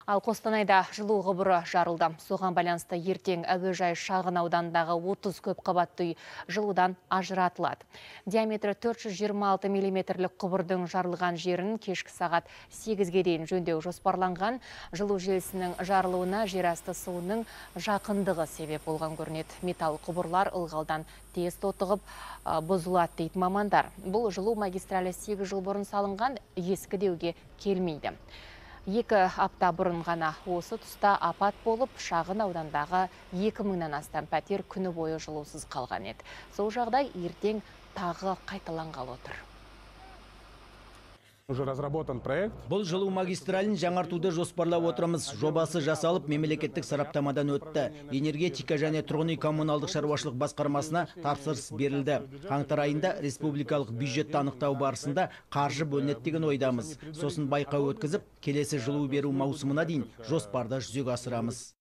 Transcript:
Ал Қостанайда жылу құбыры жарылды. Соған байланысты ертең әуежай шағын аудандағы 30 көп қабатты үй жылудан ажыратылады. Диаметрі 426 миллиметрлік құбырдың жарылған жерін кешкі сағат 8-ге дейін жөндеу жоспарланған. Жылу желісінің жарылуына жерасты суының жақындығы себеп болған көрінеді. Металл құбырлар ылғалдан тез тотығып бұзылады дейді мамандар. Бұл жылу магистралі 8 жыл бұрын салынған, ескі деуге келмейді. 2 апта бұрын ғана осы тұста апат болып, шағын аудандағы 2000-нан астам пәтер күні бойы жылусыз қалған еді. Сол жағдай ертең тағы қайталанғалы отыр. Уже разработан проект. Бұл жылу магистралін жаңартуды жоспарлап отырмыз. Жобасы жасалып, мемлекеттік сараптамадан өтті. Энергетика және тұрғын үй коммуналдық шаруашылық басқармасына тапсырыс берілді. Қаңтар айында республикалық бюджетті анықтау барысында қаржы бөлінеді деген ойдамыз. Сосын байқау өткізіп, келесі жылу беру маусымына дейін жоспарды жүзеге асырамыз.